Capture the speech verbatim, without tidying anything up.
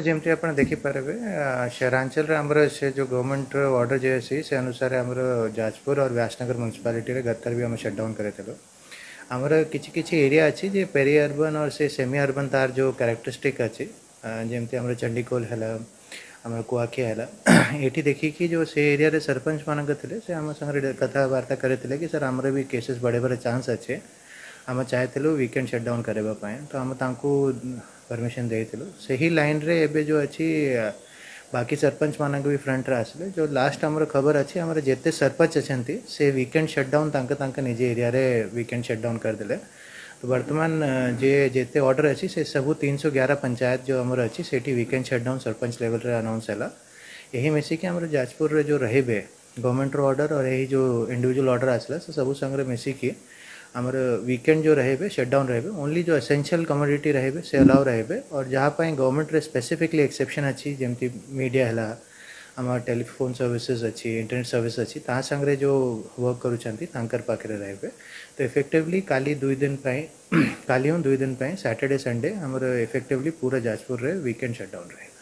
ଯେମିତି ଆପଣ ଦେଖିପାରିବେ, ସହରାଞ୍ଚଳରେ ଆମର ସେ ଯେଉଁ ଗଭର୍ଣ୍ଣମେଣ୍ଟର ଅର୍ଡ଼ର ଯେ ଅଛି, ସେ ଅନୁସାରେ ଆମର ଯାଜପୁର ଆଉ ବ୍ୟାସନଗର ମ୍ୟୁନିସିପାଲିଟିରେ ଗତଥର ବି ଆମେ ସଟ୍ଡାଉନ୍ କରିଥିଲୁ। ଆମର କିଛି କିଛି ଏରିଆ ଅଛି ଯେ ପେରି ଅର୍ବାନ୍ और ସେ ସେମି ଅର୍ବାନ୍, ତାର ଯେଉଁ କ୍ୟାରେକ୍ଟରିଷ୍ଟିକ୍ ଅଛି, ଯେମିତି ଆମର ଚଣ୍ଡିଖୋଲ ହେଲା, ଆମର କୁଆଖିଆ ହେଲା, ଏଠି ଦେଖିକି ଯେଉଁ ସେ ଏରିଆରେ ସରପଞ୍ଚ ମାନଙ୍କ ଥିଲେ, ସେ ଆମ ସାଙ୍ଗରେ କଥାବାର୍ତ୍ତା କରିଥିଲେ କି ସାର୍, ଆମର ବି କେସେସ୍ ବଢ଼େଇବାର ଚାନ୍ସ ଅଛି, ଆମେ ଚାହିଁଥିଲୁ ୱିକେଣ୍ଡ ସଟ୍ଡାଉନ୍ କରିବା ପାଇଁ। ତ ଆମେ ତାଙ୍କୁ ପରମିସନ୍ ଦେଇଥିଲୁ। ସେହି ଲାଇନ୍ରେ ଏବେ ଯେଉଁ ଅଛି, ବାକି ସରପଞ୍ଚ ମାନଙ୍କ ବି ଫ୍ରଣ୍ଟରେ ଆସିଲେ। ଯେଉଁ ଲାଷ୍ଟ ଆମର ଖବର ଅଛି, ଆମର ଯେତେ ସରପଞ୍ଚ ଅଛନ୍ତି, ସେ ୱିକେଣ୍ଡ ସଟ୍ଡାଉନ୍ ତାଙ୍କ ତାଙ୍କ ନିଜ ଏରିଆରେ ୱିକେଣ୍ଡ ସଟ୍ଡାଉନ୍ କରିଦେଲେ। ତ ବର୍ତ୍ତମାନ ଯେ ଯେତେ ଅର୍ଡ଼ର ଅଛି, ସେ ସବୁ ତିନିଶହ ଏଗାର ପଞ୍ଚାୟତ ଯେଉଁ ଆମର ଅଛି, ସେଇଠି ୱିକେଣ୍ଡ ସଟ୍ଡାଉନ୍ ସରପଞ୍ଚ ଲେଭେଲରେ ଆନାଉନ୍ସ ହେଲା। ଏହି ମିଶିକି ଆମର ଯାଜପୁରରେ ଯେଉଁ ରହିବେ, ଗଭର୍ଣ୍ଣମେଣ୍ଟର ଅର୍ଡ଼ର और ଏହି ଯେଉଁ ଇଣ୍ଡିଭିଜୁଆଲ ଅର୍ଡ଼ର ଆସିଲା, ସେ ସବୁ ସାଙ୍ଗରେ ମିଶିକି ଆମର ୱିକେଣ୍ଡ ଯେଉଁ ରହିବେ, ସଟ୍ଡାଉନ୍ ରହିବେ। ଓନ୍ଲି ଯେଉଁ ଏସେନ୍ସିଆଲ କମୋଡ଼ିଟି ରହିବେ, ସେ ଆଲାଉ ରହିବେ, और ଯାହା ପାଇଁ ଗଭର୍ଣ୍ଣମେଣ୍ଟରେ ସ୍ପେସିଫିକଲି ଏକ୍ସେପସନ୍ ଅଛି, ଯେମିତି ମିଡ଼ିଆ ହେଲା, ଆମର ଟେଲିଫୋନ୍ ସର୍ଭିସେସ୍ ଅଛି, ଇଣ୍ଟରନେଟ୍ ସର୍ଭିସ୍ ଅଛି, ତା ସାଙ୍ଗରେ ଯେଉଁ ୱାର୍କ କରୁଛନ୍ତି, ତାଙ୍କର ପାଖରେ ରହିବେ। ତ ଇଫେକ୍ଟିଭଲି କାଲି ଦୁଇ ଦିନ ପାଇଁ, କାଲି ହଁ ଦୁଇ ଦିନ ପାଇଁ, ସାଟର୍ଡେ ସଣ୍ଡେ ଆମର ଇଫେକ୍ଟିଭଲି ପୁରା ଯାଜପୁରରେ ୱିକେଣ୍ଡ ସଟ୍ଡାଉନ୍ ରହିବ।